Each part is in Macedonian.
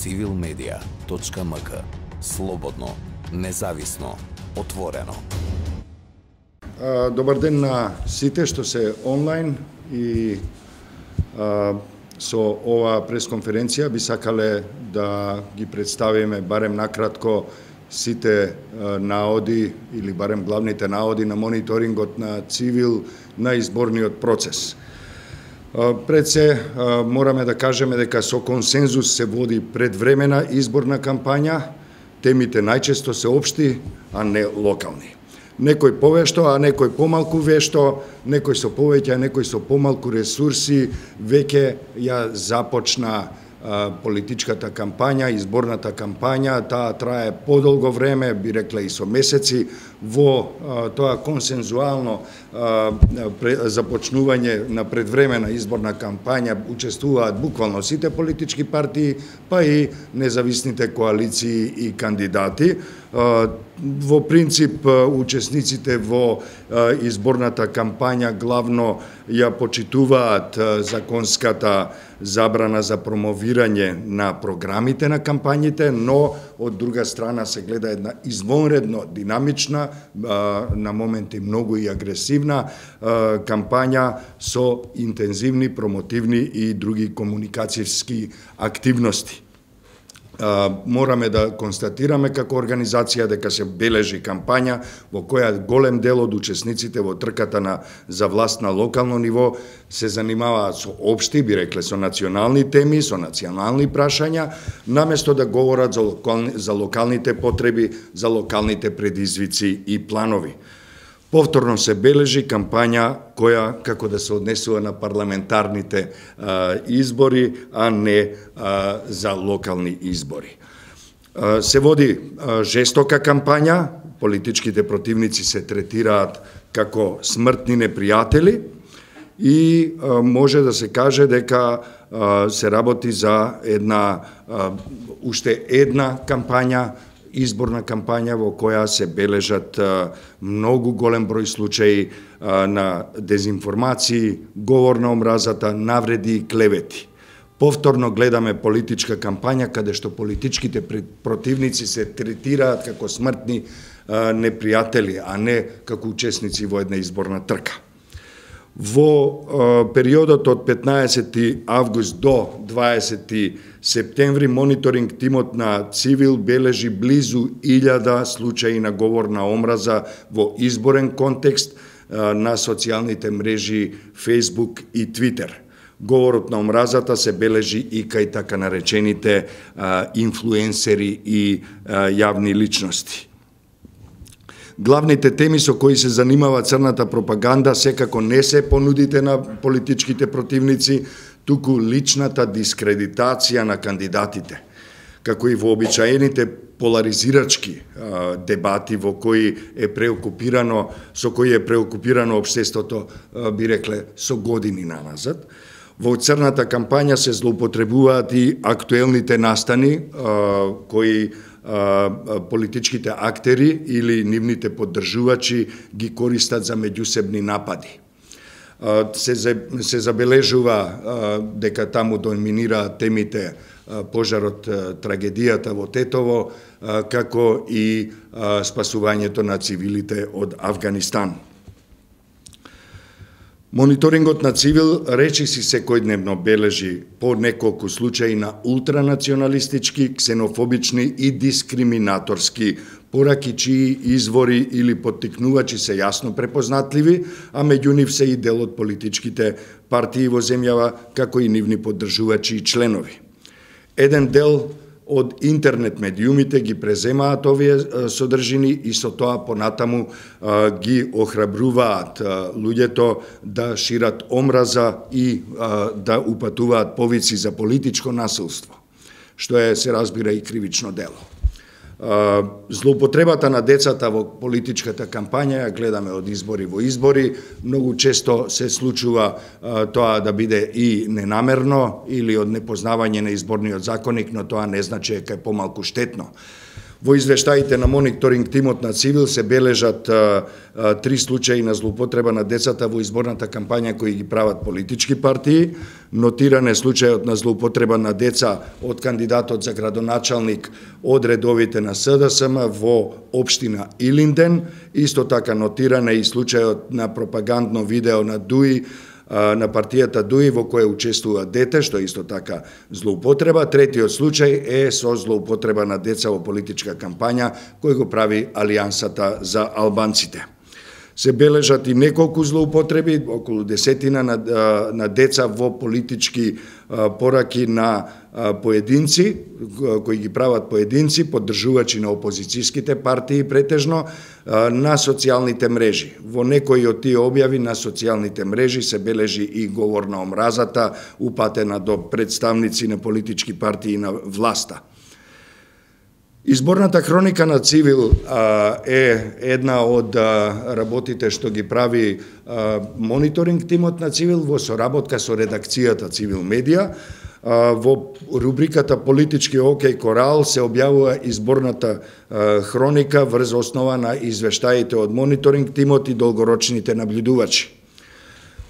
civilmedia.mk. Слободно, независно, отворено. Добар ден на сите што се онлайн и со ова пресконференција би сакале да ги представиме барем накратко сите наоди или барем главните наоди на мониторингот на Цивил на изборниот процес. Пред се мораме да кажеме дека со консензус се води предвремена изборна кампања, темите најчесто се општи, а не локални. Некој повешто, а некој помалку вешто, некој со повеќе, а некој со помалку ресурси, веќе ја започна политичката кампања, изборната кампања, таа трае подолго време, би рекла и со месеци, во тоа консензуално започнување на предвремена изборна кампања учествуваат буквално сите политички партии, па и независните коалиции и кандидати. Во принцип, учесниците во изборната кампања главно ја почитуваат законската забрана за промовирање на програмите на кампањите, но од друга страна се гледа една извонредно динамична, на моменти многу и агресивна кампања со интензивни, промотивни и други комуникацијски активности. Мораме да констатираме како организација дека се бележи кампања во која голем дел од учесниците во трката за власт на локално ниво се занимаваат со општи, би рекле со национални теми, со национални прашања, наместо да говорат за локалните потреби, за локалните предизвици и планови. Повторно се бележи кампања која како да се однесува на парламентарните избори, а не за локални избори. Се води жестока кампања, политичките противници се третираат како смртни непријатели и може да се каже дека се работи за уште една кампања, изборна кампања во која се бележат многу голем број случаи на дезинформации, говор на омразата, навреди и клевети. Повторно гледаме политичка кампања каде што политичките противници се третираат како смртни непријатели, а не како учесници во една изборна трка. Во периодот од 15 август до 20 септември мониторинг тимот на Цивил бележи близу 1000 случаи на говор на омраза во изборен контекст на социјалните мрежи Facebook и Twitter. Говорот на омразата се бележи и кај така наречените инфлуенсери и јавни личности. Главните теми со кои се занимава црната пропаганда секако не се понудите на политичките противници, туку личната дискредитација на кандидатите, како и вообичаените поларизирачки дебати со кои е преокупирано општеството, би рекле, со години наназад. Во црната кампања се злоупотребуваат и актуелните настани кои политичките актери или нивните поддржувачи ги користат за меѓусебни напади. Се забележува дека таму доминираат темите пожарот, трагедијата во Тетово, како и спасувањето на цивилите од Авганистан. Мониторингот на Цивил речиси секојдневно бележи по неколку случаи на ултранационалистички, ксенофобични и дискриминаторски пораки чии извори или поттикнувачи се јасно препознатливи, а меѓу нив се и дел од политичките партии во земјава, како и нивни поддржувачи и членови. Еден дел од интернет медиумите ги преземаат овие содржини и со тоа понатаму ги охрабруваат луѓето да шират омраза и да упатуваат повици за политичко насилство, што се разбира и кривично дело. Злоупотребата на децата во политичката кампања ја гледаме од избори во избори. Многу често се случува тоа да биде и ненамерно или од непознавање на изборниот законник, но тоа не значи дека е помалку штетно. Во извештаите на мониторинг тимот на Цивил се бележат 3 случаи на злоупотреба на децата во изборната кампања кои ги прават политички партии. Нотиран е случајот на злоупотреба на деца од кандидатот за градоначалник од редовите на СДСМ во општина Илинден. Исто така нотиран е и случајот на пропагандно видео на ДУИ, на партијата ДУИ во која учествува дете, што е исто така злоупотреба. Третиот случај е со злоупотреба на деца во политичка кампања кој го прави Алијансата за албанците. Се бележат и неколку злоупотреби, околу 10 на деца во политички пораки на поединци, кои ги прават поединци, поддржувачи на опозицијските партии претежно, на социјалните мрежи. Во некои од тие објави на социјалните мрежи се бележи и говор на омразата, упатена до представници на политички партии на власта. Изборната хроника на Цивил е една од работите што ги прави мониторинг тимот на Цивил во соработка со редакцијата Цивил Медија. Во рубриката Политички океј Корал се објавува изборната хроника врз основа на извештаите од мониторинг тимот и долгорочните наблюдувачи.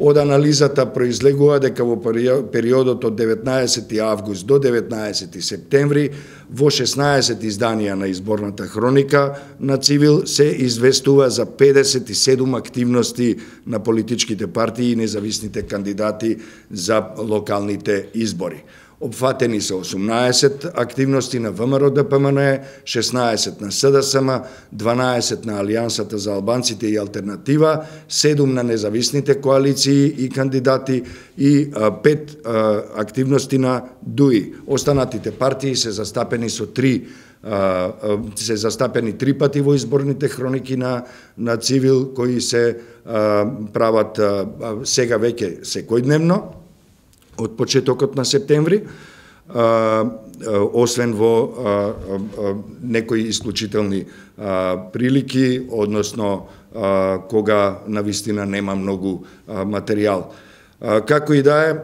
Од анализата произлегува дека во периодот од 19 август до 19 септември во 16 изданија на изборната хроника на Цивил се известува за 57 активности на политичките партии и независните кандидати за локалните избори. Опфатени се 18 активности на ВМРО-ДПМН, 16 на СДСМ, 12 на Алијансата за албанците и алтернатива, 7 на независните коалиции и кандидати и 5 активности на ДУИ. Останатите партии се застапени со 3 пати во изборните хроники на Цивил, кои се прават сега веќе секојдневно од почетокот на септември, освен во некои исклучителни прилики, односно кога навистина нема многу материјал. Како и да е,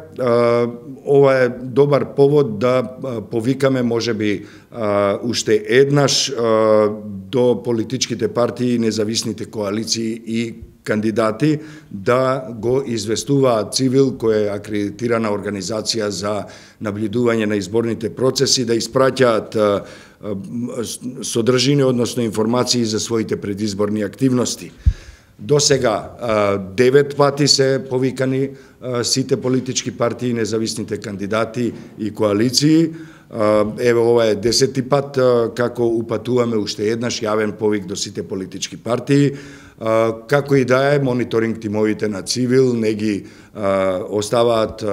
ова е добар повод да повикаме можеби уште еднаш до политичките партии, независните коалиции и кандидати да го известуваат Цивил, која е акредитирана организација за наблюдување на изборните процеси, да испраќаат содржини, односно информации за своите предизборни активности. До сега 9 пати се повикани сите политички партии, независните кандидати и коалиции. Еве ова е 10-ти пат како упатуваме уште еднаш јавен повик до сите политички партии. Како и да е, мониторинг тимовите на Цивил не ги оставаат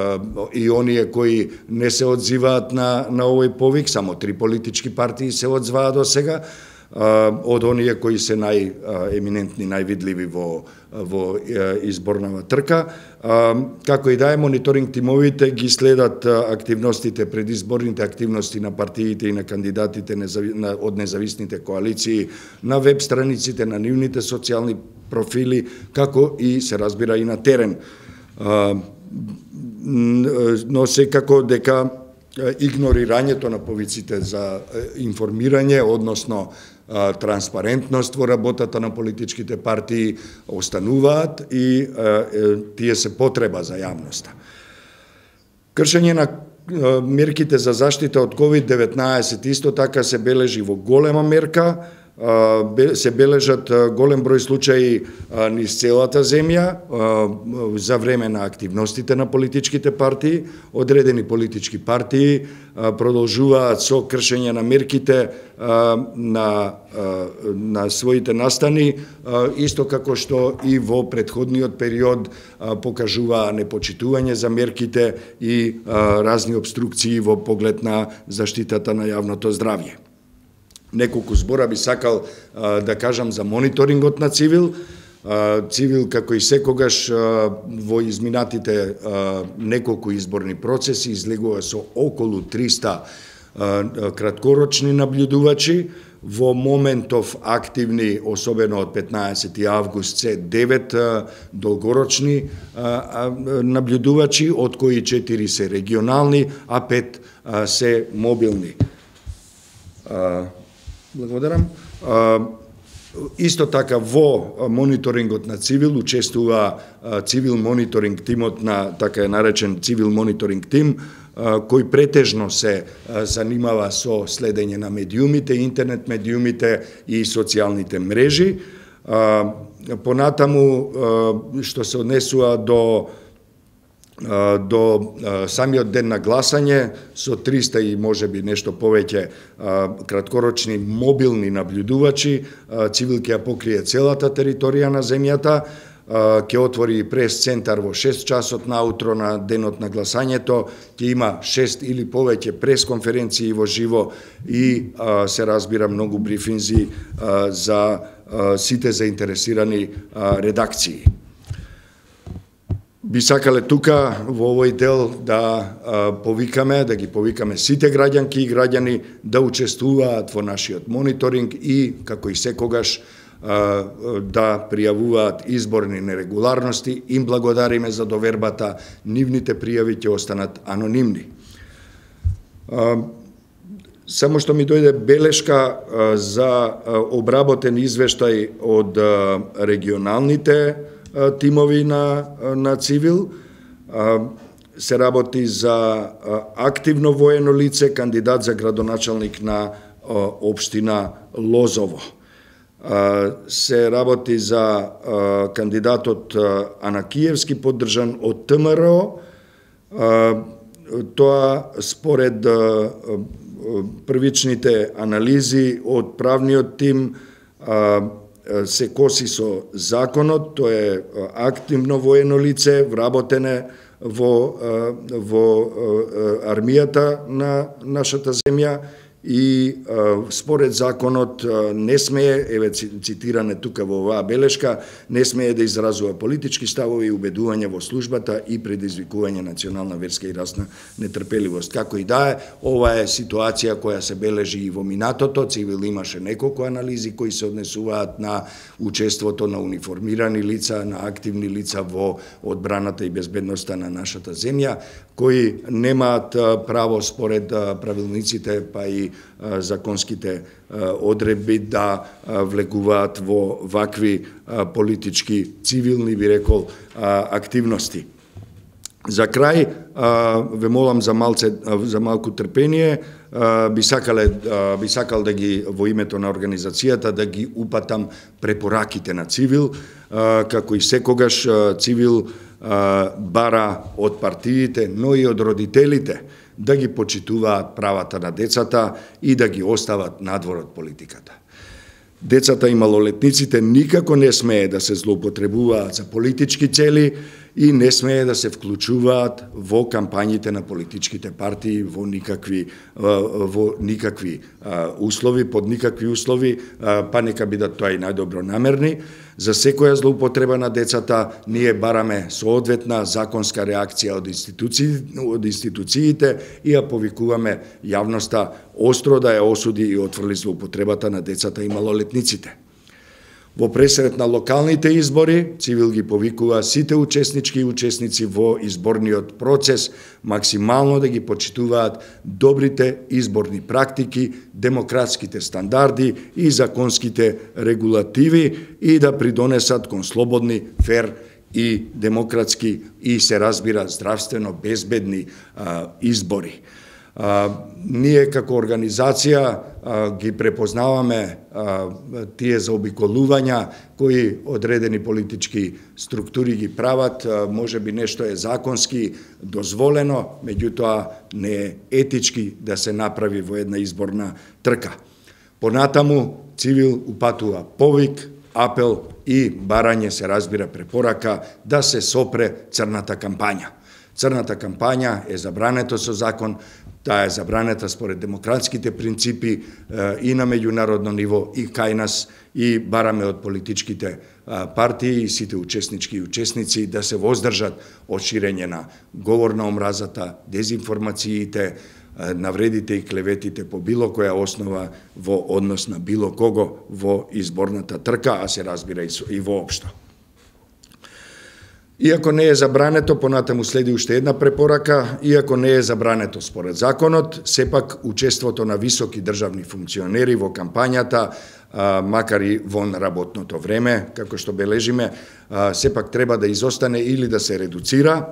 и оние кои не се одзиваат на овој повик, само 3 политички партии се одзваа до сега, од оние кои се најеминентни, највидливи во изборнава трка. Како и да е, мониторинг тимовите ги следат активностите, предизборните активности на партиите и на кандидатите од независните коалиции на веб страниците, на нивните социјални профили, како и се разбира и на терен. Но секако дека игнорирањето на повиците за информирање, односно транспарентност во работата на политичките партии остануваат и тие се потреба за јавноста. Кршење на мерките за заштита од COVID-19 исто така се бележи во голема мерка, се бележат голем број случаи низ целата земја за време на активностите на политичките партии. Одредени политички партии продолжуваат со кршење на мерките на своите настани, исто како што и во претходниот период покажуваа непочитување за мерките и разни обструкции во поглед на заштитата на јавното здравје. Неколку збора би сакал да кажам за мониторингот на Цивил. Цивил, како и секогаш во изминатите неколку изборни процеси, излегува со околу 300 краткорочни наблюдувачи. Во моментов активни, особено од 15 август, се 9 долгорочни наблюдувачи, од кои 4 се регионални, а 5 се мобилни. Благодарам. Исто така во мониторингот на Цивил учествува Цивил мониторинг тимот на така е наречен Цивил мониторинг тим, кој претежно се занимава со следење на медиумите, интернет медиумите и социјалните мрежи. Понатаму, што се однесува до самиот ден на гласање, со 300 и можеби нешто повеќе краткорочни мобилни наблюдувачи, Цивил ќе ја покрие целата територија на земјата, ќе отвори прес центар во 6 часот наутро на денот на гласањето, ќе има 6 или повеќе прес конференции во живо и се разбира многу брифинзи за сите заинтересирани редакции. Би сакале тука во овој дел да ги повикаме сите граѓанки и граѓани да учествуваат во нашиот мониторинг и, како и секогаш, да пријавуваат изборни нерегуларности. Им благодариме за довербата, нивните пријави ќе останат анонимни. Само што ми дојде белешка за обработен извештај од регионалните тимови на Цивил. Се работи за активно воено лице, кандидат за градоначалник на општина Лозово. Се работи за кандидатот Анакиевски, поддржан од ТМРО. Тоа според првичните анализи од правниот тим се коси со законот, тоа е активно воено лице, вработене во армијата на нашата земја и според законот не смее, еве цитиране тука во оваа белешка, не смее да изразува политички ставови и убедувања во службата и предизвикување национална, верска и расна нетрпеливост. Како и да е, ова е ситуација која се бележи и во минатото. Цивил имаше неколку анализи кои се однесуваат на учеството на униформирани лица, на активни лица во одбраната и безбедноста на нашата земја, кои немаат право според правилниците, па и законските одредби да влегуваат во вакви политички, цивилни, би рекол, активности. За крај, ве молам за малку трпение, би сакал да ги во името на организацијата да ги упатам препораките на Цивил, како и секогаш Цивил бара од партиите, но и од родителите да ги почитуваат правата на децата и да ги остават надвор од политиката. Децата и малолетниците никако не смее да се злоупотребуваат за политички цели и не смее да се вклучуваат во кампањите на политичките партии во никакви услови, под никакви услови, па нека бидат тоа и најдобро намерни. За секоја злоупотреба на децата ние бараме соодветна законска реакција од институциите и ја повикуваме јавноста остро да ја осуди и отфрли злоупотребата на децата и малолетниците. Во пресрет на локалните избори, Цивил ги повикува сите учеснички и учесници во изборниот процес максимално да ги почитуваат добрите изборни практики, демократските стандарди и законските регулативи и да придонесат кон слободни, фер и демократски и се разбира здравствено безбедни избори. Ние како организација ги препознаваме тие заобиколувања кои одредени политички структури ги прават, може би нешто е законски дозволено, меѓутоа не е етички да се направи во една изборна трка. Понатаму Цивил упатува повик, апел и барање, се разбира препорака, да се сопре црната кампања. Црната кампања е забрането со закон, таа е забранета според демократските принципи и на меѓународно ниво и кај нас, и бараме од политичките партии и сите учеснички и учесници да се воздржат од ширење на говор на омразата, дезинформациите, навредите и клеветите по било која основа во однос на било кого во изборната трка, а се разбира и воопшто. Иако не е забрането, понатаму следи уште една препорака, иако не е забрането според законот, сепак учеството на високи државни функционери во кампањата, макар и вон работното време, како што бележиме, сепак треба да изостане или да се редуцира.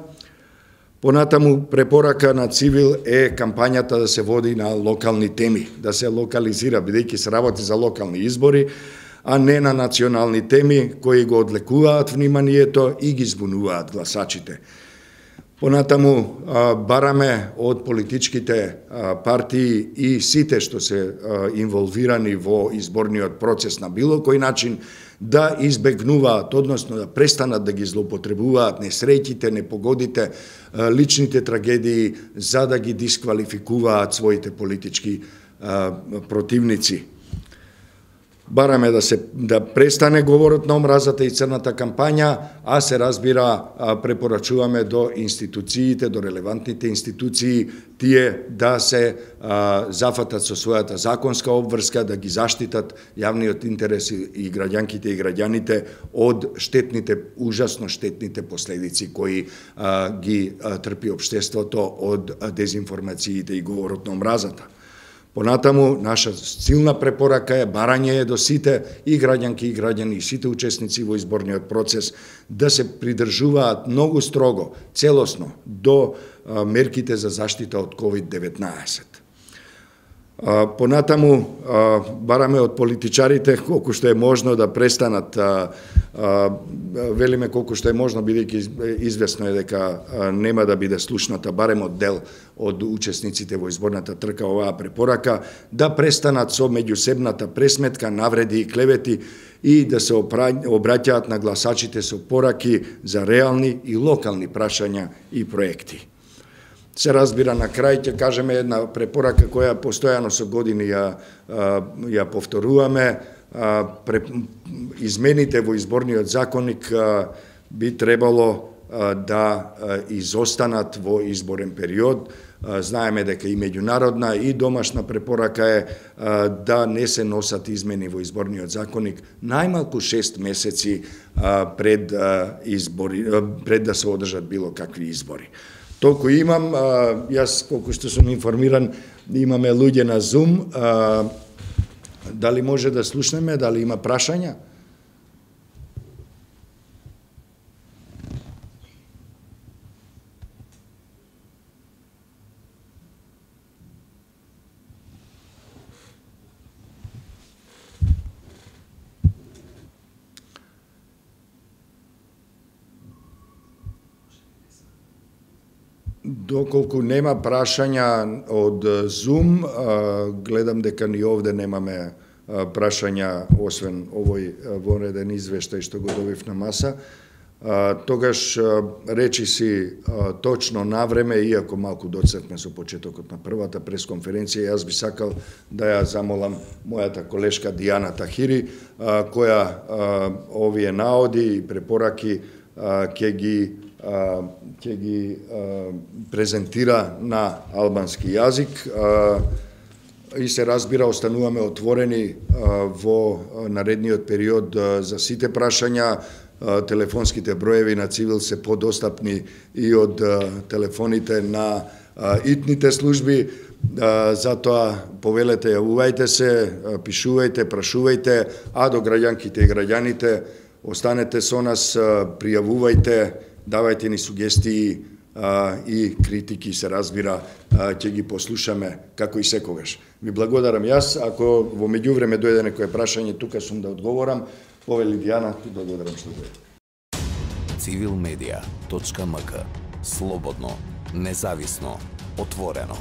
Понатаму препорака на Цивил е кампањата да се води на локални теми, да се локализира, бидејќи се работи за локални избори, а не на национални теми кои го одлекуваат вниманието и ги збунуваат гласачите. Понатаму бараме од политичките партии и сите што се инволвирани во изборниот процес на било кој начин да избегнуваат, односно да престанат да ги злоупотребуваат несреќите, непогодите, личните трагедии за да ги дисквалификуваат своите политички противници. Бараме да престане говорот на омразата и црната кампања, а се разбира препорачуваме до институциите, до релевантните институции, тие да се зафатат со својата законска обврска, да ги заштитат јавниот интерес и граѓанките и граѓаните од штетните, ужасно штетните последици кои ги трпи општеството од дезинформациите и говорот на омразата. Понатаму, наша силна препорака е барање до сите и граѓанки и граѓани и сите учесници во изборниот процес да се придржуваат многу строго, целосно до мерките за заштита од COVID-19. Понатаму, бараме од политичарите колку што е можно да престанат, велиме колку што е можно, бидејќи известно е дека нема да биде слушната барем од дел од учесниците во изборната трка оваа препорака, да престанат со меѓусебната пресметка, навреди и клевети и да се обраќаат на гласачите со пораки за реални и локални прашања и проекти. Се разбира, на крај ќе кажеме една препорака која постојано со години ја повторуваме. Измените во изборниот законник би требало да изостанат во изборен период. Знаеме дека и меѓународна и домашна препорака е да не се носат измени во изборниот законник најмалку 6 месеци пред да се одржат било какви избори. Толку имам, јас колку што сум информиран, имаме луѓе на Zoom, дали може да слушнеме, дали има прашања? Доколку нема прашања од Zoom, гледам дека ни овде немаме прашања, освен овој вонреден извештај што го добив на маса. Тогаш речи си точно на време, иако малку доцртне со почетокот на првата пресконференција, јас би сакал да ја замолам мојата колешка Дијана Тахири, која овие наоди и препораки ќе ги презентира на албански јазик и се разбира, остануваме отворени во наредниот период за сите прашања. Телефонските броеви на Цивил се подостапни и од телефоните на итните служби, затоа повелете, јавувајте се, пишувајте, прашувајте, а до граѓанките и граѓаните останете со нас, пријавувајте, давајте ни сугестии и критики, се разбира, ќе ги послушаме како и секогаш. Ви благодарам јас, ако во меѓувреме дојде некое прашање, тука сум да одговорам. Повели Дијана, ти благодарам што дојде. Civilmedia.mk. Слободно, независно, отворено.